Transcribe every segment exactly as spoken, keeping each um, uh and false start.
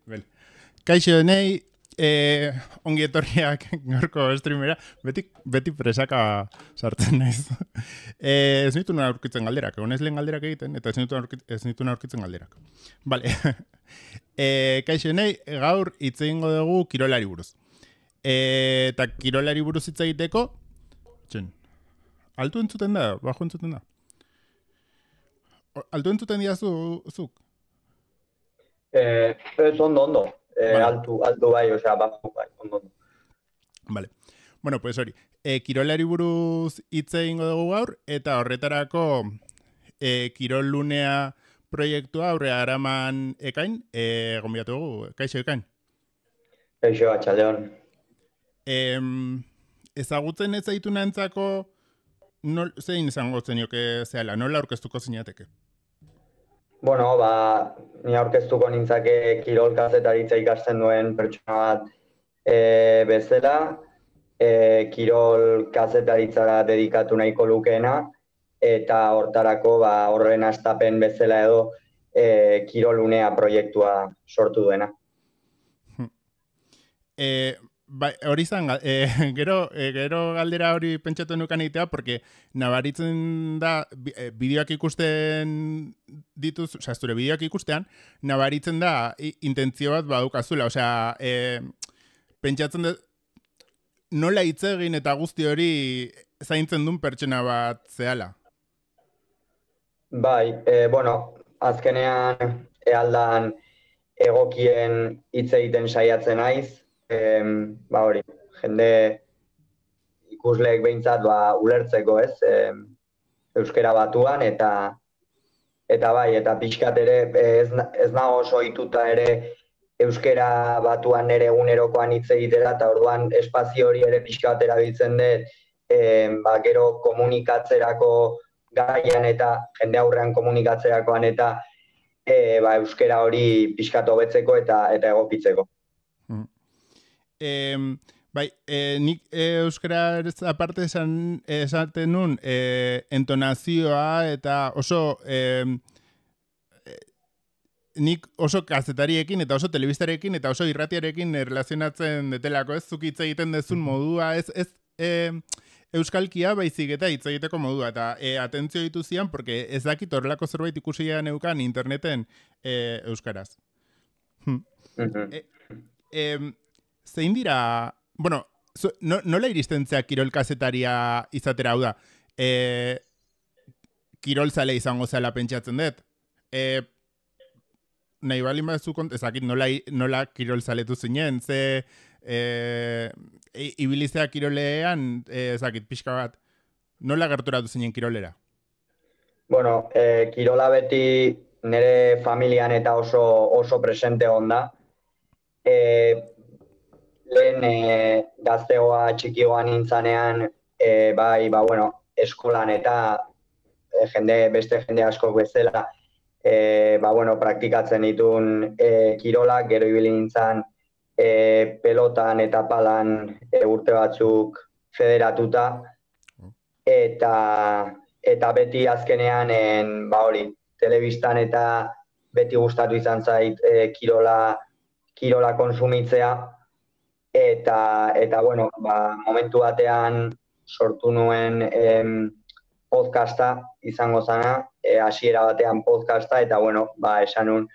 Bel. Kaixo nei, eh, ongi etorriak gaurko streamera, beti, beti presaka sartzen naiz. eh, ez nituen aurkitzen galderak, egon ez lehen galderak egiten, eta ez nituen aurkitzen, ez nituen aurkitzen galderak. Vale. eh, kaixo nei, gaur hitz egingo dugu kirolari buruz. Eh, eta kirolari buruz hitz egiteko, txen, altu entzuten da, bajo entzuten da. Altu entzuten diazu, zuk? Eh, ez ondo, ondo. Eh, Vale. altu, altu bai, osea, bajo bai, ondo, ondo. Vale. Bueno, pues hori. E, kirolari buruz hitz egingo dugu gaur, eta horretarako e, kirolunea proiektua aurrea araman ekain, e, gonbidatu dugu, kaixo ekain. Eixo, atxaldeon. E, ezagutzen ez zaitu nantzako, nol, zein izango zenioke zehala, nola aurkeztuko zinateke? Bueno, ba, ni aurkeztuko nintzake kirol kazetaritza ikasten duen pertsona bat e, bezala, e, kirol kazetaritzara dedikatu nahiko lukeena, eta hortarako ba, horren hastapen bezala edo e, kirolunea proiektua sortu duena. E, Ba, hori zan, e, gero, e, gero galdera hori pentsatu nukan egitea, porque nabaritzen da, e, bideoak ikusten dituz, osea, zure bideoak ikustean, nabaritzen da intentzio bat badukazula, osea, e, pentsatzen da, nola hitz egin eta guzti hori zaintzen duen pertsona bat zehala? Bai, e, bueno, azkenean ealdan egokien hitz egiten saiatzen naiz, E, ba hori, jende ikusleek behintzat ba, ulertzeko ez, e, euskera batuan, eta eta bai, eta pixkat ere ez, ez nago oso ohituta ere euskera batuan nere egunerokoan hitz egitera, eta orduan espazio hori ere pixkat erabiltzen dut, e, ba, gero komunikatzerako gaian eta jende aurrean komunikatzerakoan eta e, ba, euskera hori pixkat hobetzeko eta, eta egokitzeko. Eh, bai, eh, nik eh, euskara aparte esan, esaten nun eh, entonazioa eta oso eh, nik oso kazetariekin eta oso telebistarekin eta oso irratiarekin erlazionatzen detelako, ez zuk hitz egiten dezun modua, ez, ez eh, euskalkia baizik eta hitz egiteko modua, eta eh, atentzio ditu zian, porque ez dakit horrelako zerbait ikusia neukan interneten eh, euskaraz. Hm. Mm-hmm. eh, eh, Zein dira, bueno, so, no, nola iristen zea kirol kazetaria izatera, hau da, e, kirol zale izango zela pentsatzen dut. E, nahi balin bazu kont, ezakit nola, nola kirol zaletu zinen, ze e, ibilizea kirolean, e, ezakit, pixka bat, nola gerturatu zinen kirolera? Bueno, e, kirola beti nire familian eta oso, oso presente onda. E, Lehen e, gaztegoa txikioan nintzanean, e, bai, ba, bueno, eskolan eta e, jende, beste jende askok bezala, e, ba, bueno, praktikatzen ditun e, kirolak, gero ibili nintzan e, pelotan eta palan e, urte batzuk federatuta, eta, eta beti azkenean, en, ba, hori, telebistan eta beti gustatu izan zait e, kirola, kirola konsumitzea, Eta, eta bueno, ba, momentu batean sortu nuen em, podcasta izango zana, e, hasiera batean podcasta, eta bueno, ba, esan nun,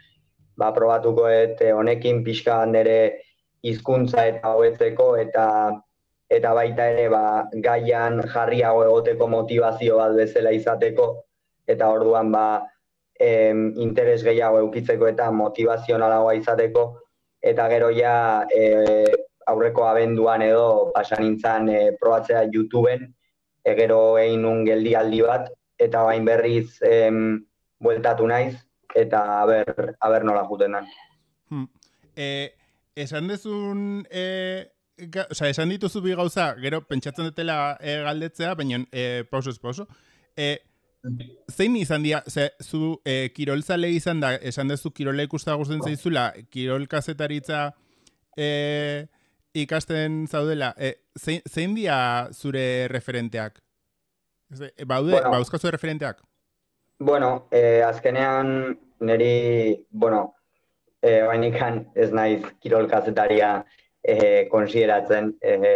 ba, probatuko et honekin pixka nire hizkuntza eta hobetzeko, eta eta baita ere ba, gaian jarriago egoteko motivazio bat bezala izateko, eta orduan ba, em, interes gehiago eukitzeko eta motivazionalagoa izateko, eta gero ja e, aurreko abenduan edo pasan nintzen e, probatzea YouTubeen, e, gero egin nun geldialdi bat, eta bain berriz em, bueltatu naiz, eta aber, aber nola juten den. Hmm. E, esan dezun, e, ga, oza, esan dituzu bi gauza, gero pentsatzen dutela e, galdetzea, baina e, pausoz pauso. E, zein izan dira, ze, zu e, kirolzale izan da, esan dezu kirola ikusta gusten zaizula, kirol kazetaritza e, ikasten zaudela, e, zein, zein dira zure referenteak? E, baude, bueno, bauzkazu referenteak? Bueno, eh, azkenean niri, bueno, e, oainikan ez naiz kirol kazetaria e, konsideratzen, e,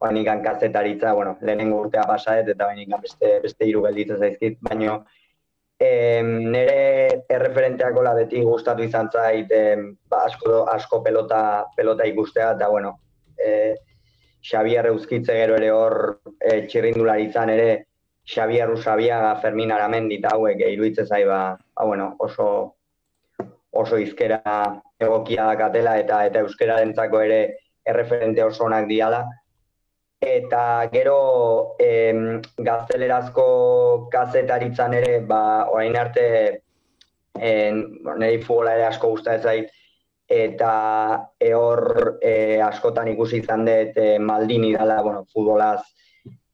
oainikan kazetaritza, bueno, lehenengo urtea pasaet eta oainikan beste, beste hiru gelditzen zaizkit, baino e, nire erreferenteakola beti gustatu izan zait e, ba, asko, asko pelota, pelota ikustea, eta bueno, e, Xabier Euskitze gero ere hor e, txirrindularitzan ere Xabier Usabiaga, Fermin Aramendi eta hauek iruditzen zai ba, ba bueno, oso oso hizkera egokia dakatela eta eta euskararentzako ere erreferente oso onak diala. Eta gero em, gaztelerazko kazetaritzan ere, ba, orain arte en, niri futbola ere asko gustatzen zait, eta hor e, askotan ikusi izan dut e, Maldini dela, bueno, futbolaz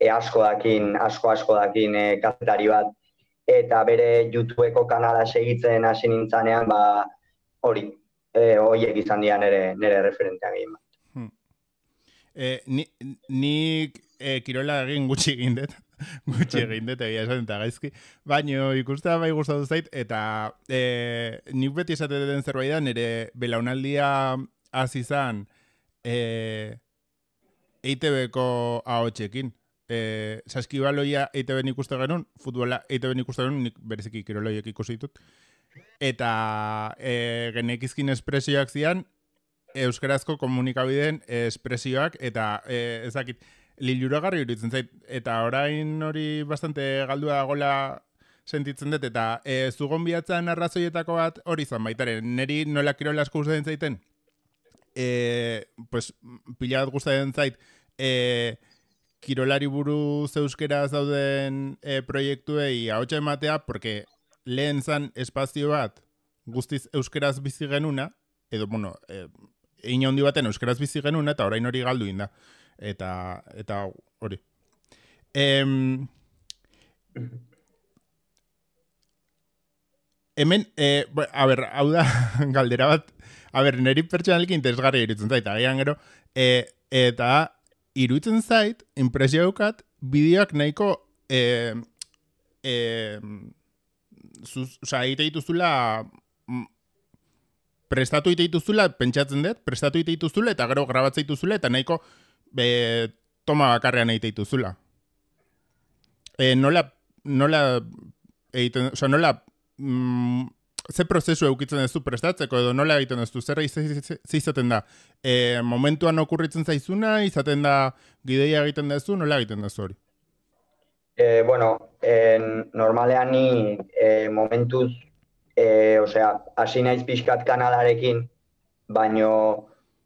e, asko dakin, asko asko dakin e, kazetari bat, eta bere YouTubeko kanala segitzen hasi nintzanean, ba, hori, e, horiek izan dira nire, nire referenteak egin bat. Hmm. E, ni, nik e, kirola egin gutxi egin dut, gutxi egin dut egia esan eta gaizki, baina ikustea bai gustatu zait, eta e, nik beti esaten den zerbait da, nire belaunaldia hasi izan e, E I Te Beko ahotsekin. E, Saskibaloia E I Te Ben ikuste genuen, futbola E I Te Ben ikuste genuen, nik bereziki kiroloiek ikusi ditut. Eta e, genekizkin espresioak zian, euskarazko komunikabideen espresioak, eta e, ezakit, liluragarri iruditzen zait, eta orain hori bastante galdua dagoela sentitzen dut, eta e, zugon bihatzen arrazoietako bat hori zan baitaren, neri nola kirola asko gustatzen zaiten, e, pues, pila bat gustatzen zait, e, kirolari buruz euskeraz dauden e, proiektuei ahotsa ematea, porque lehen zan espazio bat guztiz euskeraz bizi genuna, edo, bueno, e, egin handi baten euskeraz bizi genuna, eta orain hori galdu inda. Eta, eta hori. Em, hemen, e, a ber, hau da galdera bat, a ber, niri pertsonaliki interesgarri iruditzen zait, agian gero, e, eta iruditzen zait, impresio daukat, bideoak nahiko, e, e, zuz, oza, egite dituzula, prestatu egite dituzula, pentsatzen dut, prestatu egite dituzula, eta gero grabatzea dituzula, eta nahiko, be, toma bakarrean egite dituzula. E, nola, nola, egiten, oza, nola, mm, ze prozesu eukitzen duzu prestatzeko, edo nola egiten duzu, zer izaten da, e, momentuan okurritzen zaizuna, izaten da gideia egiten duzu, nola egiten duzu hori? Eh, bueno, en, normalean ni eh, momentuz, eh, osea, hasi naiz pixkat kanalarekin, baino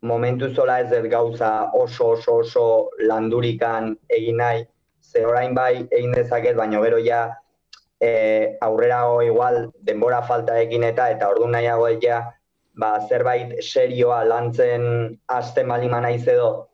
momentu zola ez dut gauza oso oso oso landurikan egin nahi, ze orain bai egin dezaket, baino gero ja e, aurrerago igual denbora faltarekin eta eta ordu nahiago ja ba, zerbait serioa lantzen hasten balima naiz edo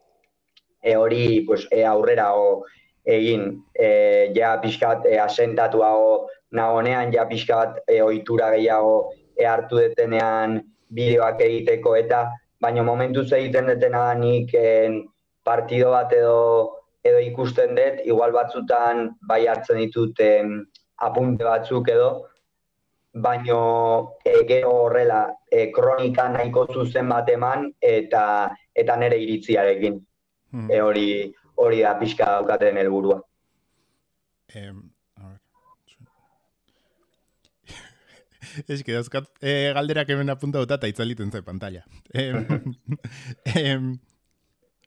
e, hori pues, e, aurrerago egin e, ja pixkat e, asentatuago nagonean, ja pixkat e, ohitura gehiago e, hartu detenean bideoak egiteko eta baina momentuz egiten detena nik en, partido bat edo, edo ikusten dut, igual batzutan bai hartzen ditut em, apunte batzuk edo, baina e, gero horrela e, kronika nahiko zuzen bat eman eta eta nire iritziarekin. Hmm. E, hori, hori da pixka daukaten helburua. Um, Ez que dauzkat eh, galderak hemen apunta dut eta itzaliten zai pantalla. Eh, eh,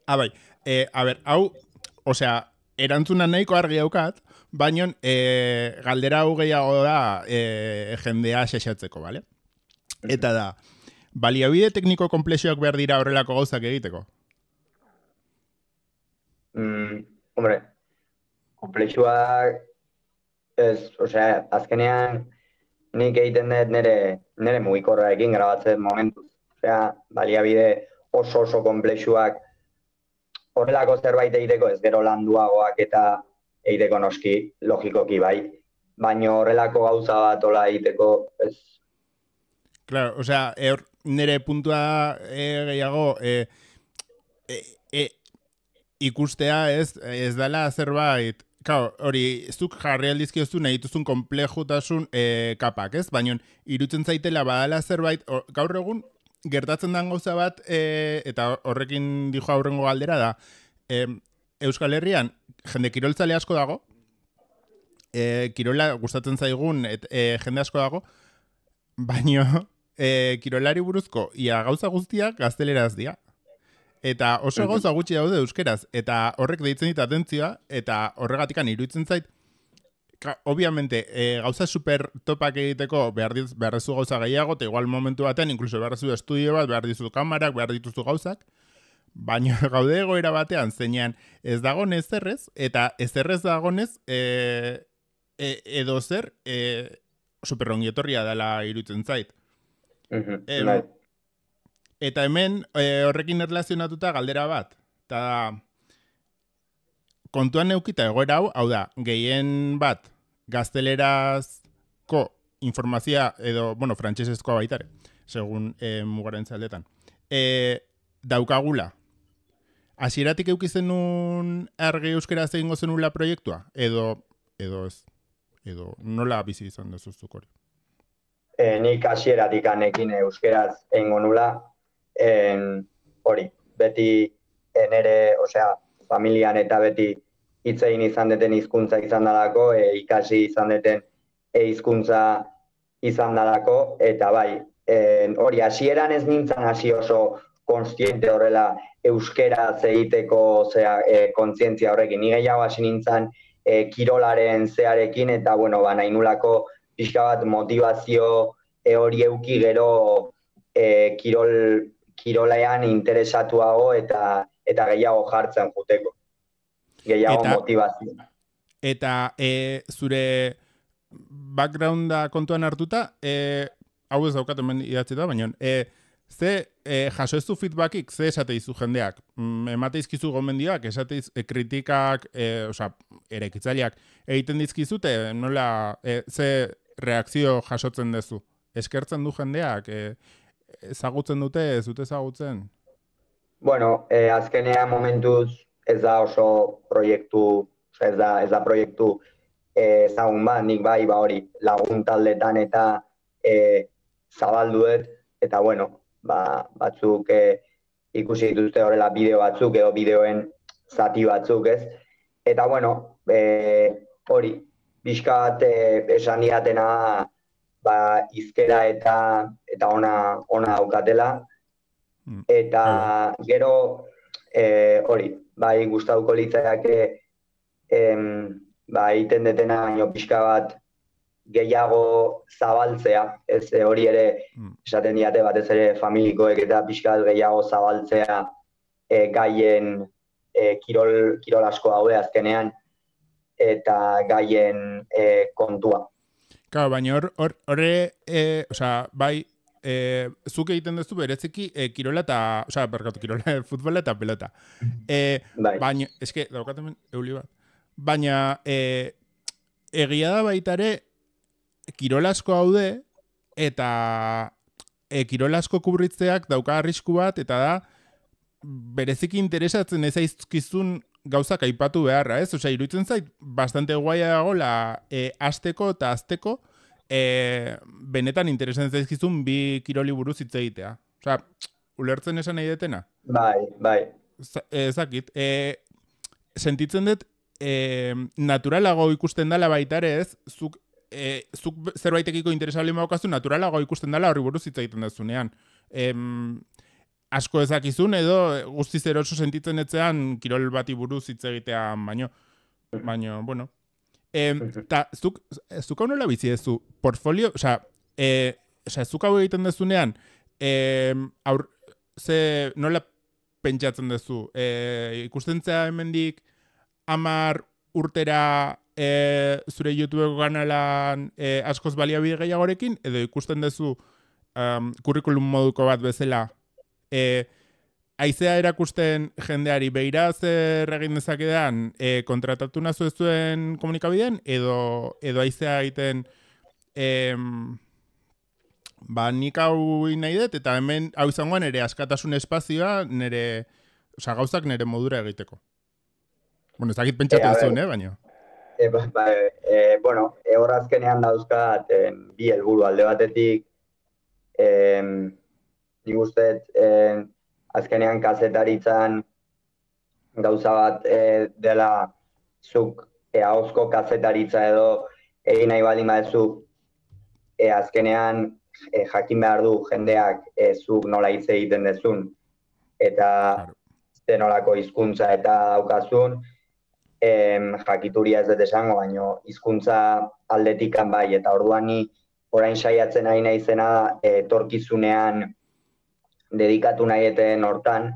ah, bai. Eh, a ber, hau, osea, erantzuna nahiko argi daukat, baina eh, galdera hau gehiago da eh, jendea xexatzeko, bale? Eta da, baliabide tekniko konplexioak behar dira horrelako gauzak egiteko? Mm, hombre, konplexioak, ez, osea, azkenean, nik egiten dut nire, nire mugikorrarekin grabatzen momentuz. Osea, baliabide oso oso konplexuak horrelako zerbait egiteko ez gero landuagoak eta egiteko noski logikoki bai. Baina horrelako gauza bat ola egiteko ez. Claro, osea, er, nire puntua e, gehiago e, e, e, ikustea ez, ez dela zerbait. Claro, hori, zuk jarri aldizkiozu nahi dituzun komplejutasun e, kapak, ez? Baina irutzen zaitela badala zerbait, or, gaur egun, gertatzen den gauza bat, e, eta horrekin dijo aurrengo galdera da, e, Euskal Herrian jende kiroltzale asko dago, e, kirola gustatzen zaigun et, e, jende asko dago, baino e, kirolari buruzko ia gauza guztiak gazteleraz dira. Eta oso gauza gutxi daude euskeraz, eta horrek deitzen dit atentzioa, eta horregatikan iruditzen zait, ka, obviamente, e, gauza super topak egiteko behar, diz, behar dizu gauza gehiago, eta igual momentu batean, inkluso behar dizu estudio bat, behar dizu kamarak, behar dituzu gauzak, baina gaude egoera batean, zeinean ez dagonez zerrez, eta ez zerrez dagonez, e, e, edo zer, e, superrongietorria dela iruditzen zait. Mhm, Em, bai. Eta hemen e, horrekin erlazionatuta galdera bat. Eta kontuan neukita egoera hau, hau da, gehien bat gaztelerazko informazioa edo, bueno, frantsesezkoa baitare, segun e, mugaren zaldetan, e, daukagula. Hasieratik eukizenun argi euskeraz egingo zenula proiektua? Edo, edo ez? Edo nola bizi izan dezuzuk hori? E, nik hasieratik anekin euskeraz egingo nula, en, hori, beti nere, osea, familian eta beti hitz egin izan deten hizkuntza izan dalako, e, ikasi izan deten e, hizkuntza izan dalako, eta bai, en, hori, hasieran ez nintzen hasi oso konstiente horrela euskeraz egiteko, osea, e, kontzientzia horrekin. Ni gehiago hasi nintzen e, kirolaren zearekin, eta, bueno, ba, nahi nulako pixka bat motivazio e, hori euki gero e, kirol, kirolean interesatuago eta eta gehiago jartzen juteko. Gehiago eta, motivazio. Eta e, zure backgrounda kontuan hartuta, e, hau ez daukat hemen idatzi da, baina e, ze e, jaso ez du feedbackik, ze esate izu jendeak? Mm, emate izkizu gomendioak, esate iz, e, kritikak, e, oza, erekitzaileak egiten dizkizute, nola, e, ze reakzio jasotzen duzu? Eskertzen du jendeak, e, ezagutzen dute, ez dute ezagutzen? Bueno, eh, azkenean momentuz ez da oso proiektu, ez da, ez da proiektu eh, ezagun bat, nik bai, ba hori, lagun taldetan eta eh, zabalduet, eta bueno, ba, batzuk eh, ikusi dituzte horrela bideo batzuk edo bideoen zati batzuk, ez? Eta bueno, eh, hori, pixka bat eh, esan diatena ba, izkera eta eta ona, ona daukatela, eta gero eh, hori, bai gustatuko litzaiake em, ba, egiten detena baino pixka bat gehiago zabaltzea, ez e, hori ere esaten diate batez ere familikoek eta pixka bat gehiago zabaltzea e, gaien e, kirol, kirol asko daude azkenean eta gaien e, kontua. Claro, baina hor, hor, horre, e, osea, bai, e, zuk egiten duzu bereziki e, kirola eta, osea, berkatu, kirola, futbola eta pelota. E, bai. Baina, eske, daukatemen, euli bat. Baina, e, egia da baitare, kirol asko haude, eta e, kirol asko kubritzeak dauka arrisku bat, eta da, bereziki interesatzen ez aizkizun gauzak aipatu beharra, ez? Osea, iruditzen zait, bastante guaia dagoela e, asteko eta azteko e, benetan interesatzen zaizkizun bi kiroli buruz hitz egitea. Osea, ulertzen esan nahi detena? Bai, bai. Ezakit. E, sentitzen dut, e, naturalago ikusten dela baita ere ez, zuk, e, zuk zerbaitekiko interesabli maukazu, naturalago ikusten dela horri buruz hitz egiten dezunean. Em, asko ezakizun edo guztiz eroso sentitzen etzean kirol bati buruz hitz egitea baino. Baino, bueno. E, ta, zuk, zuk hau nola bizi dezu? Portfolio, osea, e, osea, zuk hau egiten dezunean, e, aur, ze nola pentsatzen duzu? E, ikustentzea hemendik hamar urtera e, zure YouTubeko kanalan e, askoz baliabide gehiagorekin, edo ikusten duzu um, kurrikulum moduko bat bezala E, aizea erakusten jendeari beira zer egin dezakedan e, kontratatu nazu ez zuen komunikabidean edo, edo aizea egiten em, ba nik hau nahi dut eta hemen hau izango nire askatasun espazioa nire, oza, gauzak nire modura egiteko. Bueno, ez dakit pentsatu ez zuen, eh, baina. E, ba, ba, e, bueno, e, horrazkenean dauzkat e, bi helburu alde batetik em, nik uste eh, azkenean kazetaritzan gauza bat eh, dela zuk eh, ahozko kazetaritza edo egin nahi baldin baduzu eh, azkenean eh, jakin behar du jendeak eh, zuk nola hitz egiten dezun eta Claro. zenolako hizkuntza eta daukazun, em, jakituria ez dut esango, baino hizkuntza aldetikan bai, eta orduan ni orain saiatzen ari naizena da etorkizunean dedikatu nahieten hortan,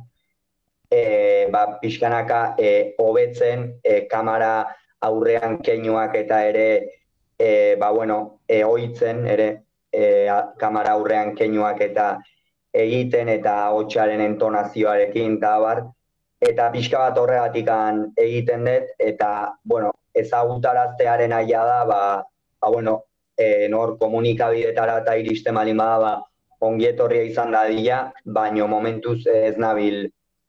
e, ba, pixkanaka e, hobetzen e, kamera aurrean keinuak eta ere e, ba, bueno, e, ohitzen ere e, a, kamera aurrean keinuak eta egiten eta hotsaren entonazioarekin eta bar, eta pixka bat horregatikan egiten dut, eta, bueno, ezagutaraztearen aia da, ba, ba bueno, e, nor komunikabidetara eta iristen balin bada, ba, ongietorria izan dadila, baino momentuz ez nabil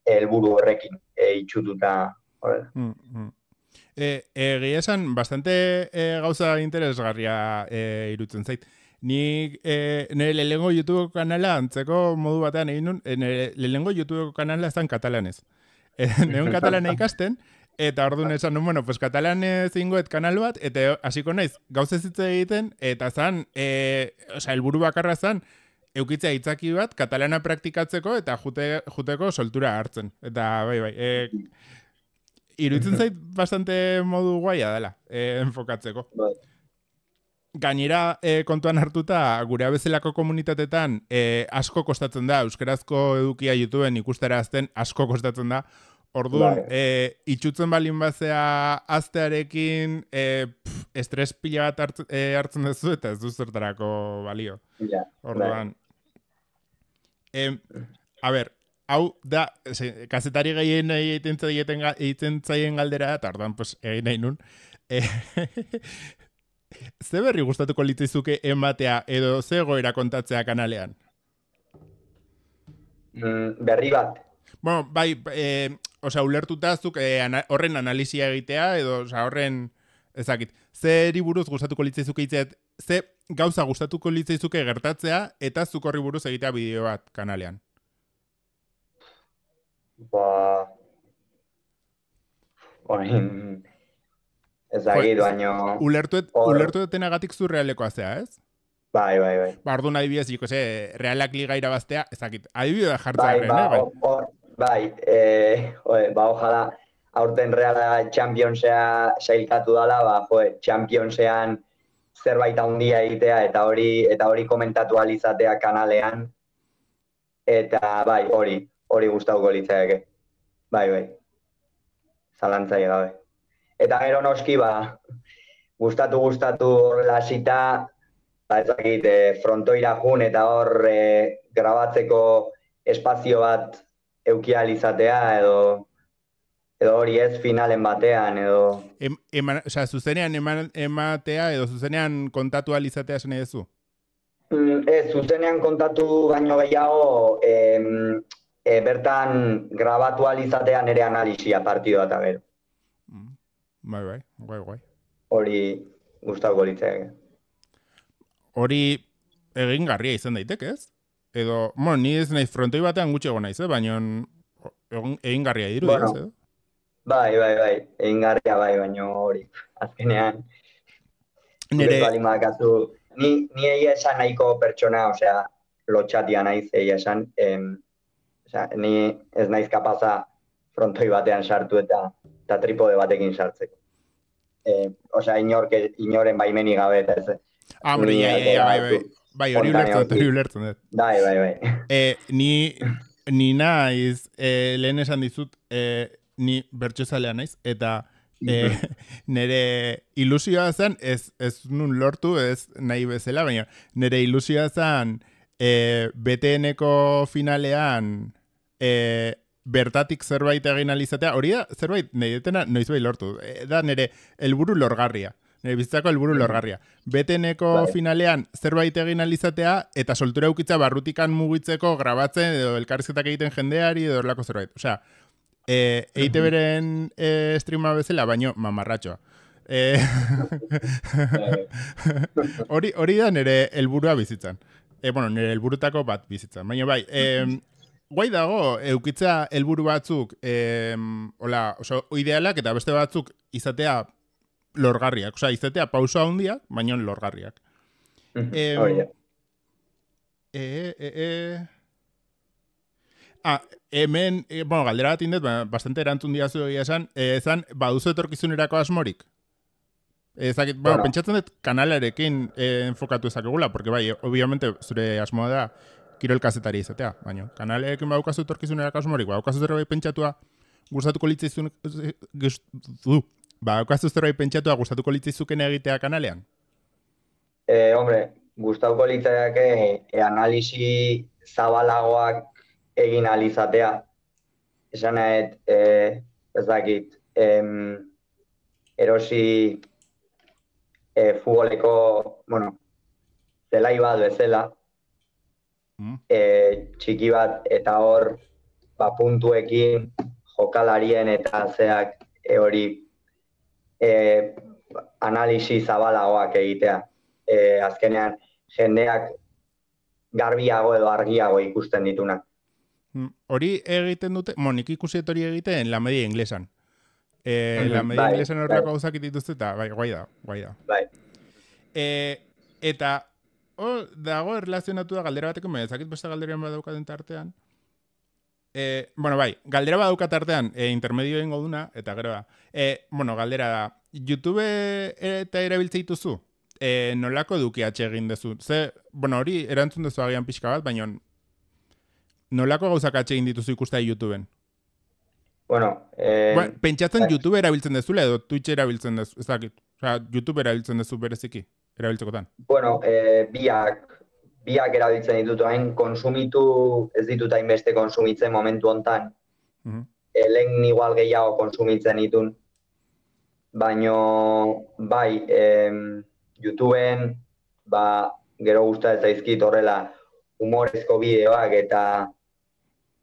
helburu horrekin e, itxututa horrela. Mm, mm. E, egia esan, bastante e, gauza interesgarria e, irutzen zait. Ni e, nire lehengo YouTube kanala antzeko modu batean egin nun, e, nire lehengo YouTube kanala ezan katalanez. E, Neun katalana ikasten, eta orduan esan nun, bueno, pues katalanez ingoet kanal bat, eta hasiko naiz gauza ez egiten, eta zan, e, osea, helburu bakarra zan, eukitzea hitzaki bat, katalana praktikatzeko, eta jute, juteko soltura hartzen. Eta, bai, bai, e, iruditzen zait bastante modu guaia dela, e, enfokatzeko. Bai. Gainera, e, kontuan hartuta, gure bezalako komunitatetan e, asko kostatzen da, euskarazko edukia YouTubeen ikusterazten asko kostatzen da. Orduan, Bai. e, itxutzen balin bazea aztearekin e, pff, estres pila bat hartzen, e, hartzen duzu eta ez du zertarako balio. Ja, Orduan, e, a ber, hau da, ze, kazetari gehien egiten zaien, egiten zaien galdera, eta orduan, pues, egin nahi nun. E, ze berri gustatuko litzaizuke ematea edo ze egoera kontatzea kanalean? Mm, berri bat. Bueno, bai, e, osea, ulertuta zuk e, ana, horren analisia egitea edo osea, horren ezakit. Zeri buruz gustatuko litzaizuke itzet, ze gauza gustatuko litzaizuke gertatzea eta zuk horri buruz egitea bideo bat kanalean. Ba... Oin... Ezagit, baino... Ulertuet, Hor- ulertuetenagatik zu realekoa zea, ez? Bai, bai, bai. Ba, orduan adibidez, jiko ze, realak liga irabaztea, ezakit. Adibidea jartzea Bai, erren, ba, eh? Bai. hor- hor- bai, eh, joe, ba, ojala, aurten Reala Championsea sailkatu dala, ba, joe, Championsean zerbait handia egitea eta hori eta hori komentatu ahal izatea kanalean. Eta bai, hori, hori gustatuko litzaeke. Bai, bai. Zalantzai gabe. Eta gero noski, ba, gustatu gustatu horrela hasita, ba, ez dakit, e, frontoira jun eta hor e, grabatzeko espazio bat euki ahal izatea edo edo hori ez finalen batean edo Em, eman, osea, zuzenean eman, ematea edo zuzenean kontatu ahal izatea esan nahi duzu? Mm, ez, zuzenean kontatu baino gehiago em, e, bertan grabatu ahal izatea nire analisia partidua eta gero. Mm. Bai, bai, guai, guai. Hori gustatuko litzaeke. Hori egingarria izan daiteke, ez? Edo, bueno, ni ez naiz frontoi batean gutxi egon naiz, eh? Baina egon- egingarria dirudi, Bueno. ez, edo? Bai, bai, bai, egingarria bai, baino hori, azkenean, Nere, Nire... bali badakazu, ni, ni egia esan nahiko pertsona, osea, lotxatia naiz egia esan, em, osea, ni ez naiz kapaza frontoi batean sartu eta, eta tripode batekin sartzeko. E, osea, inork, inoren baimeni gabe eta ez. ah, hombre, ni ja, ja, ja, bai, bai, hartu bai, hori ulertzen dut, espontaneoki. hori ulertzen dut. Bai, bai, bai. E, ni, ni naiz, e, lehen esan dizut, e, ni bertsozalea naiz, eta e, nire ilusioa zen, ez, ez nun lortu, ez nahi bezala, baina nire ilusioa zen e, B T N-ko finalean e, bertatik zerbait egin alizatea, hori da, zerbait nahi detena noizbait lortu, e, da nire helburu lorgarria. Nire bizitzako helburu lorgarria. B T N-ko Bai. finalean zerbait egin alizatea eta soltura eukitza barrutikan mugitzeko grabatzen edo elkarrizketak egiten jendeari edo horlako zerbait. Osea, e, E I T B-ren e, streama bezala, baino mamarratxoa. E, hori, hori da nire helburua bizitzan. E, bueno, nire helburutako bat bizitza. Baina bai, e, guai dago, eukitzea helburu batzuk, e, hola, oso, idealak eta beste batzuk izatea lorgarriak. Osa, izatea pauso handiak, baina lorgarriak. E, Hori da. e, e, e... Ah, hemen, e, bueno, galdera bat indet, bastante erantzun diazu egia esan, e, ezan, baduzu etorkizunerako asmorik? Ezakit, bueno, bueno, pentsatzen dut kanalarekin eh, enfokatu ezakegula, porque bai, obviamente zure asmoa da kirol kazetari izatea, baina kanalekin badaukazu etorkizunerako asmorik, badaukazu zerbait pentsatua gustatuko litzaizun, badaukazu zerbait pentsatua gustatuko litzaizuken egitea kanalean? Eh, hombre, gustatuko litzaiake e, analisi zabalagoak egin alizatea. Esan nahet, eh, ez dakit, em, erosi e, futboleko, bueno, zelai bat bezala, mm. e, txiki bat, eta hor, ba, puntuekin, jokalarien eta zeak e, hori e, analisi zabalagoak egitea. E, azkenean, jendeak garbiago edo argiago ikusten ditunak. Hori egiten dute, mo, nik ikusiet hori egiten la media inglesan. Eh, la media bai, inglesan horreko gauzak dituzte eta bai, guai da, guai da. Bai. Eh, eta hor dago erlazionatu da galdera bateko, baina ezakit beste galdera badaukaten tartean. Eh, bueno, bai, galdera badaukat tartean eh, intermedio egingo duna, eta gero da. Eh, bueno, galdera da, YouTube eta erabiltze dituzu? Eh, nolako edukiatxe egin dezu? Ze, bueno, hori erantzun dezu agian pixka bat, baina nolako gauzak atxe egin dituzu ikustea YouTubeen? Bueno, eh... Bueno, pentsatzen YouTube erabiltzen dezula edo Twitch erabiltzen dezu, ez dakit. Osea, YouTube erabiltzen dezu bereziki, erabiltzekotan. Bueno, eh, biak, biak erabiltzen ditut hain, konsumitu ez ditut hainbeste konsumitzen momentu hontan. Uh-huh. E, lehen igual gehiago konsumitzen ditun. Baino, bai, eh, YouTubeen, ba, gero gusta ez zaizkit horrela humorezko bideoak eta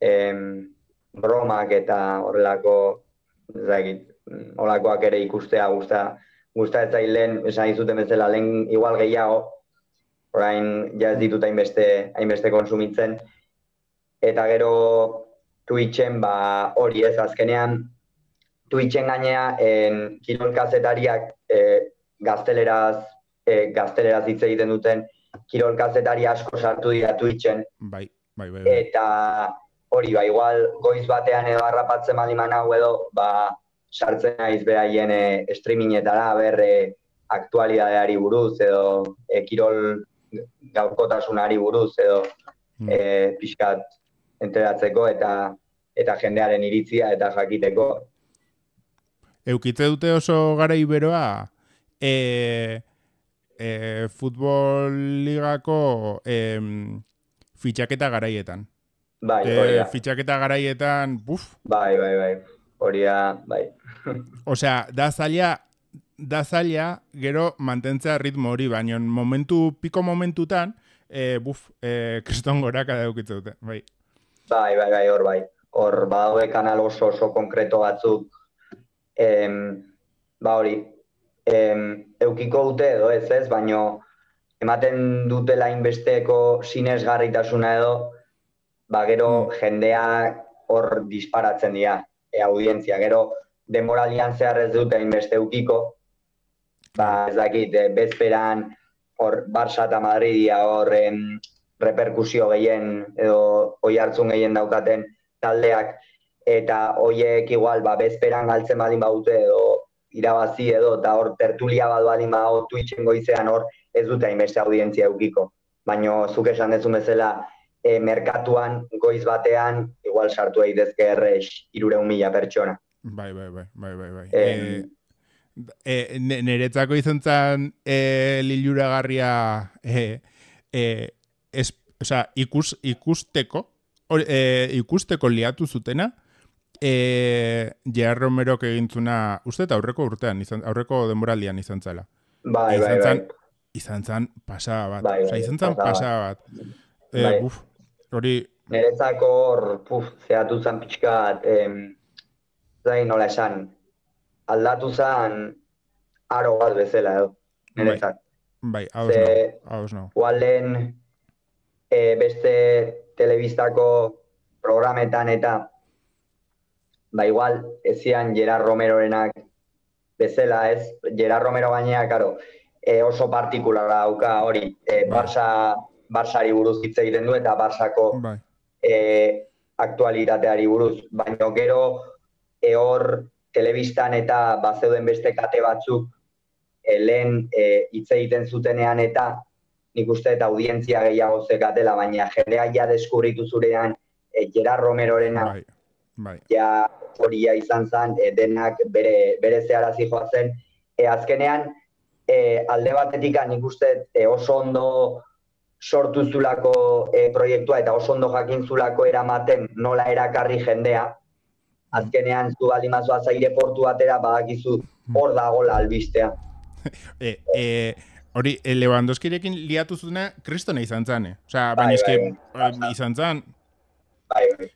em, bromak eta horrelako, ez dakit, horrelakoak ere ikustea gusta, gusta ez zailen, esan izuten bezala lehen igual gehiago, orain ja ez ditut hainbeste, hainbeste konsumitzen, eta gero Twitchen, ba, hori ez, azkenean, Twitchen gainea, en, kirol kazetariak eh, gazteleraz, eh, gazteleraz hitz egiten duten, kirol kazetari asko sartu dira Twitchen. Bai, bai, bai. bai. Eta hori, ba, igual goiz batean edo harrapatzen baliman hau edo, ba, sartzen naiz beraien e, streamingetara, ber, e, aktualidadeari buruz, edo e, kirol gaurkotasunari buruz, edo mm. e, pixkat enteratzeko eta eta jendearen iritzia eta jakiteko. Eukitze dute oso gara iberoa, e, e, futbol ligako e, fitxaketa garaietan. Bai, hori da. E, fitxaketa garaietan, buf. Bai, bai, bai. Hori da, bai. Osea, da zaila, da zaila, gero mantentzea ritmo hori, baina momentu, piko momentutan, e, buf, e, kriston goraka daukitze dute, bai. Bai, bai, bai, hor bai. Hor, badaude kanal oso oso konkreto batzuk, em, ba hori, em, eukiko dute edo ez ez, baina ematen dutela inbesteko sinesgarritasuna edo, ba gero mm. jendea hor disparatzen dira, e, audientzia, gero demoralian zehar ez dute inbeste eukiko, ba ez dakit, e, bezperan hor Barça eta Madridia hor em, reperkusio gehien edo oi hartzun gehien daukaten taldeak, eta hoiek igual ba, bezperan galtzen badin baute edo irabazi edo, eta hor tertulia bat badin badago Twitchen goizean hor ez dute hainbeste audientzia eukiko. Baina zuk esan dezun bezala, e, merkatuan goiz batean igual sartu daitezke errex hirurehun mila pertsona. Bai, bai, bai, bai, bai, bai. Eh, eh, Niretzako izan zen eh, liluragarria eh, eh, es, o sea, ikus, ikusteko, or, eh, ikusteko liatu zutena, eh, Gerard Romerok egintzuna, uste eta aurreko urtean, izan, aurreko denboraldian izan zela. Bai, bai, bai. Izan zen pasada bat. Bai, bai, o sea, izan zen pasada bat. Eh, bai. Buf, hori... Niretzako hor, puf, zehatu zen pixkat, em, zain nola esan, aldatu zen aro bat bezala edo, niretzat. Bai, bai, hauz no, hauz no. Ualen, e, beste telebistako programetan eta ba igual ezian Gerard Romerorenak bezala, ez? Gerard Romero gainea, karo, e, oso partikulara dauka hori, e, Barça, Barçari buruz hitz egiten du eta Barçako bai. e, aktualitateari buruz, baina gero e, hor telebistan eta bazeuden beste kate batzuk e, lehen e, hitz egiten zutenean eta nik uste eta audientzia gehiago zekatela, baina jendea ja deskubritu zurean e, Gerard Romerorena Bai, bai. ja horia izan zen, e, denak bere, bere zeharazi joazen. E, azkenean, e, alde batetik nik uste e, oso ondo sortu zulako e, proiektua eta oso ondo jakin zulako eramaten nola erakarri jendea. Azkenean, zu baldin bazoaz aireportu batera badakizu hor dagola albistea. e, e, hori, e, Lewandowskirekin liatu zutena kristona izan zen, eh? Osea, Bai, baina eske bai, bai. izan zen. Bai, bai.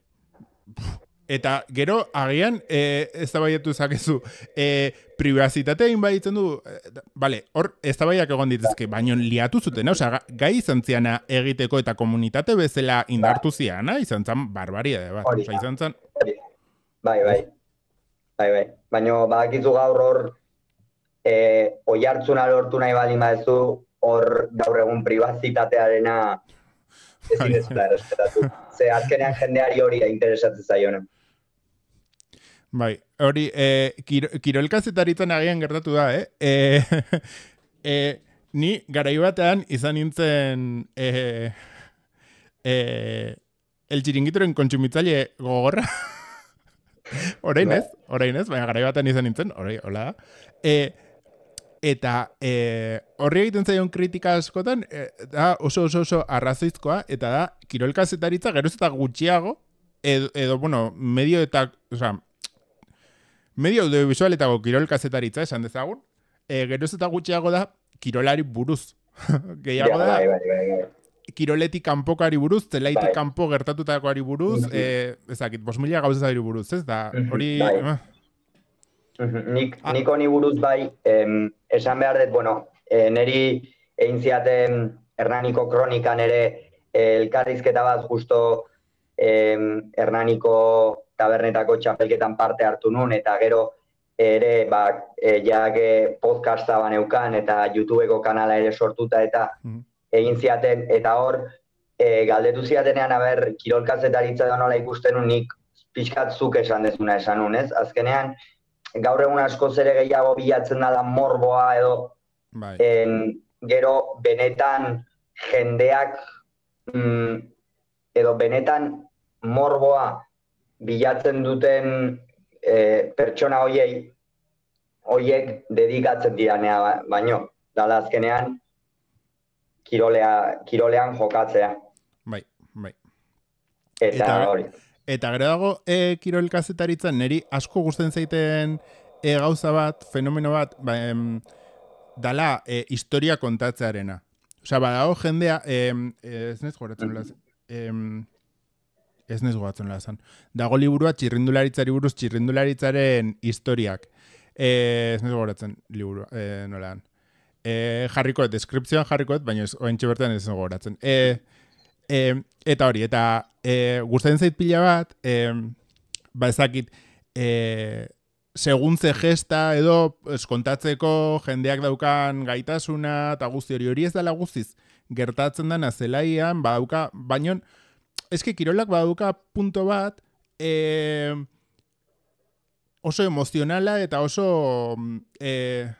Eta gero, agian, e, ez da baiatu zakezu, e, privazitatea inbaitzen du, e, bale, hor, ez da baiak egon dituzke, baina liatu zuten, osea, gai izan ziana egiteko eta komunitate bezala indartu ziana, izan zen barbaria de bat, osea, izan zen... Bai, bai, bai, bai, baina badakizu gaur hor, e, oihartzuna lortu nahi baldin badezu, hor gaur egun privazitatearena ezin ez da errespetatu. Ze azkenean jendeari hori da interesatzen zaiona. Bai, hori, e, kiro, kirolkazetaritzen agian gertatu da, eh? E, e, ni garai batean izan nintzen e, e, el txiringitoren kontsumitzaile gogorra. Orain ez, orain ez, baina garai batean izan nintzen, orain, hola da. E, eta e, horri egiten zaion kritika askotan, e, da oso oso oso arrazoizkoa, eta da, kirolkazetaritza geroz eta gutxiago, edo, edo bueno, medio eta, osea, medio audiovisualetako kirolkazetaritza esan dezagun, e, geroz eta gutxiago da kirolari buruz. Gehiago da, bai, bai, bai, bai. kiroletik kanpokari buruz, zelaitik kanpo gertatutakoari buruz, e, ezakit, bos mila gauzari buruz, ez da, hori... Bai. Nik, ah. nik honi buruz bai, em, esan behar dut, bueno, e, neri egin ziaten Hernaniko kronikan ere e, elkarrizketa bat justo em, Hernaniko tabernetako txapelketan parte hartu nun, eta gero ere, ba, e, jake podcasta baneukan, eta YouTubeko kanala ere sortuta, eta mm. egin ziaten, eta hor, e, galdetu ziatenean, aber, kirolkazetaritza da nola ikusten nun, nik pixkat zuk esan dezuna esan nun, ez? Azkenean, gaur egun askoz ere gehiago bilatzen da morboa edo bai. en, gero benetan jendeak mm, edo benetan morboa bilatzen duten e, pertsona hoiei hoiek dedikatzen diranea baino dala azkenean kirolea, kirolean jokatzea. Bai, bai. Eta, eta hori. Eta gero dago e, kirolkazetaritzan niri asko gusten zaiten e, gauza bat, fenomeno bat, ba, em, dala e, historia kontatzearena. Osea, badago jendea, em, ez nez goratzen laz, em, ez nez goratzen lazan. Dago liburua txirrindularitzari buruz, txirrindularitzaren historiak. E, ez nez goratzen liburua, e, nolan. E, jarrikoet, deskripzioan jarrikoet, baina ez, oentxe bertan ez nez goratzen. E, e, eta hori, eta e, gustatzen zait pila bat, e, ba ezakit, e, segun ze gesta edo es, kontatzeko jendeak daukan gaitasuna eta guzti hori hori ez dela guztiz gertatzen dana zelaian, badauka, baino eske kirolak badauka punto bat e, oso emozionala eta oso e,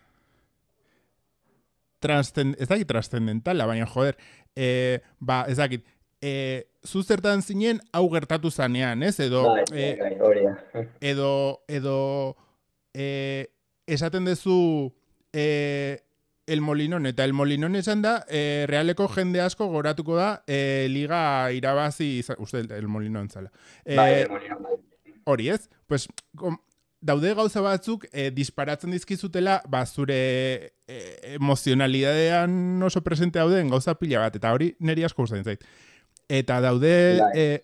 transcend, ez dakit trascendentala, baina joder, e, ba, ez dakit, e, zu zertan zinen hau gertatu zanean, ez? Edo, bai, e, bai, bai, edo, edo e, esaten duzu e, El Molinón, eta El Molinón esan da, e, realeko jende asko goratuko da e, liga irabazi, uste, El Molinón zala. E, bai, El Molinón, bai. Hori ez? Pues, kom, daude gauza batzuk e, disparatzen dizkizutela, ba, zure e, emozionalidadean oso presente dauden gauza pila bat, eta hori niri asko gustatzen zait. Eta daude e,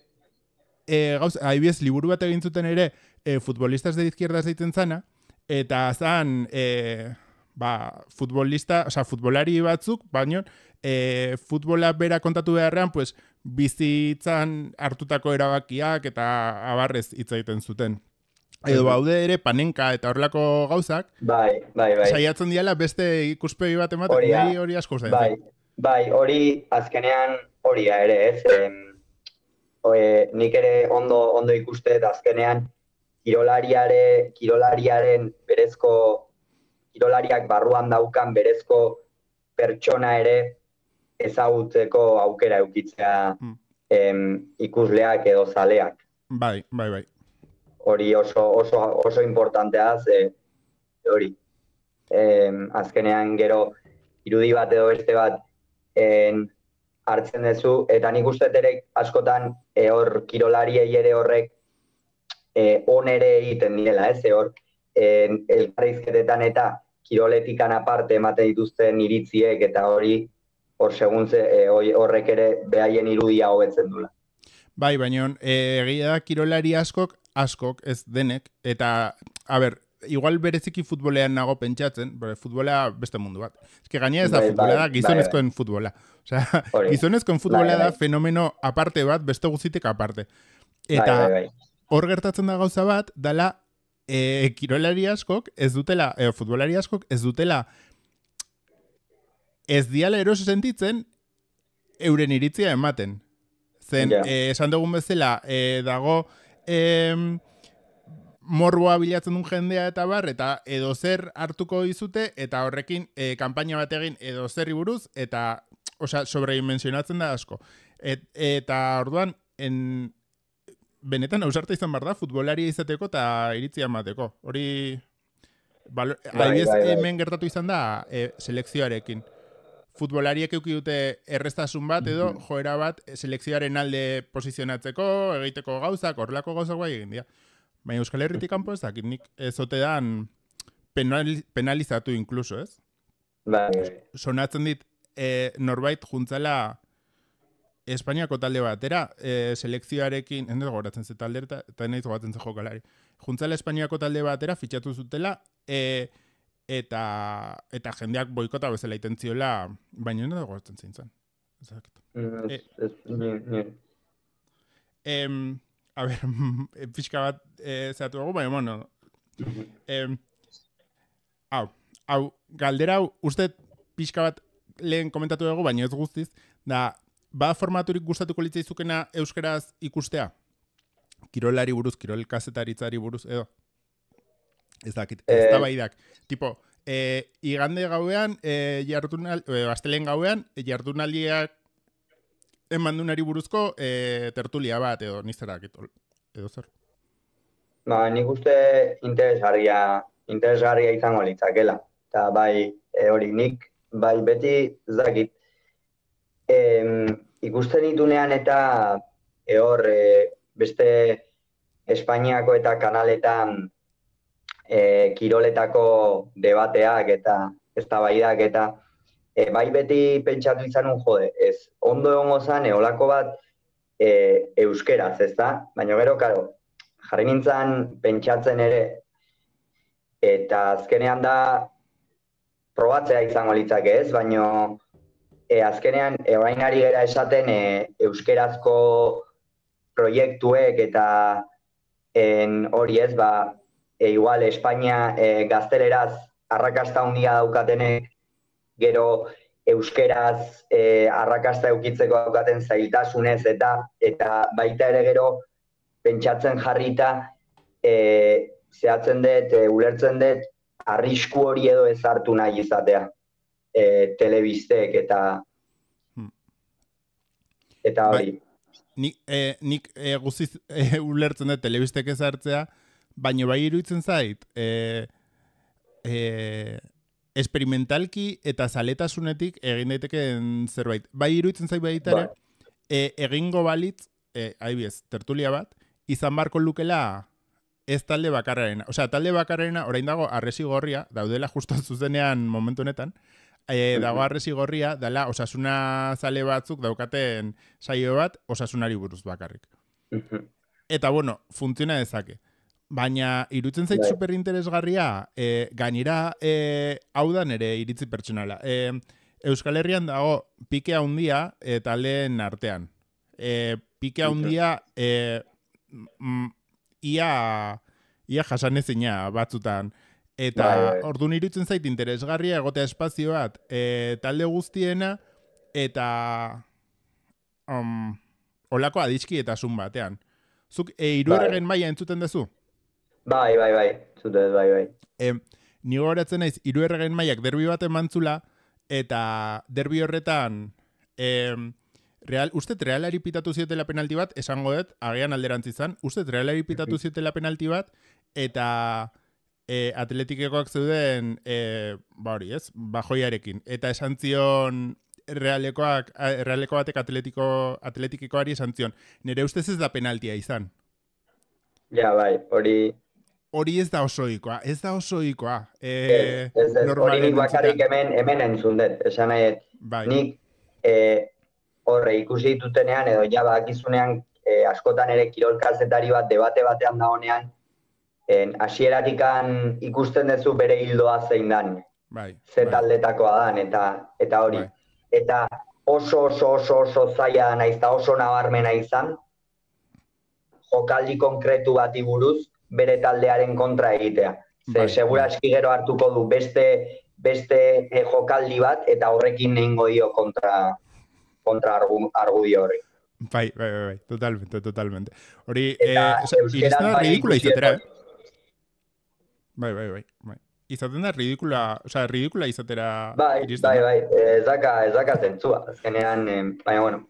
e, gauza, adibidez, liburu bat egin zuten ere e, futbolistas de izquierda zaiten zana, eta zan e, ba, futbolista, o sea, futbolari batzuk, baino e, futbola bera kontatu beharrean, pues, bizitzan hartutako erabakiak eta abarrez hitz egiten zuten. Edo baude ere panenka eta horrelako gauzak, bai, bai, bai. saiatzen diala beste ikuspegi bat ematen, Hori da. nahi hori asko zain. Bai, bai, hori azkenean hori da ere, ez? Em, oe, nik ere ondo ondo ikuste eta azkenean kirolariare, kirolariaren berezko, kirolariak barruan daukan berezko pertsona ere ezagutzeko aukera eukitzea Hmm. em, ikusleak edo zaleak. Bai, bai, bai. Hori oso, oso, oso importantea, ze hori. Em, azkenean gero irudi bat edo beste bat en, hartzen duzu, eta nik uste ere askotan e, hor kirolariei ere horrek e, on ere egiten diela, ez? E, hor en, elkarrizketetan eta kiroletikan aparte ematen dituzten iritziek eta hori hor seguntze e, horrek ere behaien irudia hobetzen dula. Bai, baina e, egia da kirolari askok, askok, ez denek, eta, a ber, igual bereziki futbolean nago pentsatzen, bere futbolea beste mundu bat. Ez que gainera ez da Bai, futbolea bai, da, gizonezkoen futbola. Osea, Hori. gizonezkoen futbolea Bai, da bai. fenomeno aparte bat, beste guztitik aparte. Bai, Eta bai, bai. hor gertatzen da gauza bat, dala e, kirolari askok ez dutela, e, futbolari askok ez dutela ez diala eroso sentitzen euren iritzia ematen. Zen, Ja. eh, esan dugun bezala, eh, dago em, morboa bilatzen duen jendea eta bar, eta edo zer hartuko dizute, eta horrekin eh, kanpaina bat egin edo zerri buruz, eta osea, sobredimensionatzen da asko. Et, eta orduan, en, benetan ausarta izan behar da, futbolaria izateko eta iritzia emateko. Hori, balo, Bai, adibidez, bai, bai. hemen gertatu izan da eh, selekzioarekin. Futbolariek euki dute erreztasun bat edo joera bat selekzioaren alde posizionatzeko, egiteko gauzak, horrelako gauzak bai egin dira. Baina Euskal Herritik kanpo ez dakit nik ez ote dan penali, penalizatu inkluso, ez? Bai, bai. Sonatzen dit e, norbait juntzala Espainiako talde batera, e, selekzioarekin, ez gogoratzen ze talde eta, eta nahiz gogoratzen ze jokalari. Juntzala Espainiako talde batera fitxatu zutela, e, eta eta jendeak boikota bezala iten ziola, baina ez gogoratzen zein zen. Ez dakit. Mm, Eh. ez- ez- ni- ni- Em, a ber, pixka bat e, zehatu dugu, baina, bueno, em, hau, hau, galdera hau, uste pixka bat lehen komentatu dugu, baina ez guztiz, da, ba formaturik gustatuko litzaizukena euskeraz ikustea? Kirolari buruz, kirol kazetaritzari buruz, edo? Ez dakit, ez da baidak. Tipo, e, igande gauean, e, jardunal, e, astelen gauean, e, jardunaldiak emandunari buruzko e, tertulia bat, edo nizerak, edo zer. Ba, nik uste interesgarria, interesgarria izango litzakela. Eta bai, e, hori nik, bai beti, ez dakit, em, ikusten ditunean eta e, hor, e, beste Espainiako eta kanaletan e, kiroletako debateak eta eztabaidak eta e, bai beti pentsatu izanun jode, ez ondo egongo zan eolako bat e, euskeraz, ez da? Baina gero, karo, jarri nintzen pentsatzen ere eta azkenean da probatzea izango litzake, ez? Baina e, azkenean e, orain ari gera esaten e, euskerazko proiektuek eta en, hori ez, ba, e, igual Espainia e, gazteleraz arrakasta handia daukatenek, gero euskeraz e, arrakasta eukitzeko daukaten zailtasunez eta eta baita ere gero pentsatzen jarrita e, zehatzen dut, e, ulertzen dut arrisku hori edo ez hartu nahi izatea e, telebistek eta eta hori. Nik, eh, nik eh, guztiz eh, ulertzen dut telebistek ez hartzea, baina bai iruditzen zait, eh, eh, esperimentalki eta zaletasunetik egin daitekeen zerbait. Bai iruditzen zait baita ere, eh, egingo balitz, eh, adibidez, tertulia bat, izan barko lukela ez talde bakarrarena. Osea, talde bakarrarena, orain dago arresi gorria, daudela justo zuzenean momentu honetan, E, dago arresi gorria, dela osasuna zale batzuk daukaten saio bat osasunari buruz bakarrik. Eta, bueno, funtziona dezake. Baina, irutzen zait super interesgarria, e, gainera, e, hau da nere iritzi pertsonala. E, Euskal Herrian dago pike handia e, taldeen artean. E, pike handia e, mm, ia, ia jasanezina batzutan. Eta bai, bai. orduan irutzen zait interesgarria egotea espazio bat e, talde guztiena eta um, olako adiskidetasun batean. Zuk e, Iruerregen bai. maila entzuten duzu? Bai, bai, bai. Zute, bai, bai. E, ni gogoratzen naiz Iruerregen mailak derbi bat emantzula eta derbi horretan e, real, uste Realari pitatu ziotela penalti bat, esango dut, agian alderantzi izan, uste Realari pitatu ziotela penalti bat eta E, atletikekoak zeuden e, ba hori, ez? Bajoiarekin. Eta esan zion realekoak, realeko batek atletiko, atletikekoari esan zion. Nire ustez ez da penaltia izan. Ja, bai, hori... Hori ez da osoikoa, ez da osoikoa. E, ez, ez, ez, hori nik bakarrik hemen, hemen entzun dut. Esan nahi, bai. Nik e, horre ikusi ditutenean edo ja bakizunean e, askotan ere kirolkazetari bat debate batean da honean, hasieratikan ikusten duzu bere hildoa zein dan. Bai, ze bai. taldetakoa dan, eta, eta hori. Bai. Eta oso, oso, oso, oso zaila naiz, eta oso nabarmena izan, jokaldi konkretu bati buruz bere taldearen kontra egitea. Ze Bai, segura bai. eski gero hartuko du beste, beste eh, jokaldi bat, eta horrekin nehingo dio kontra, kontra argu, argudio horri. Bai, bai, bai, bai, totalmente, totalmente. Hori, Eta eh, iristen da bai ridikula ikusi izatera, dut. eh? Bai, bai, bai, bai. Izaten da ridikula, osea, ridikula izatera Bai, iristen bai, da. bai, ez daka, ez daka zentzua, azkenean, eh, baina, bueno.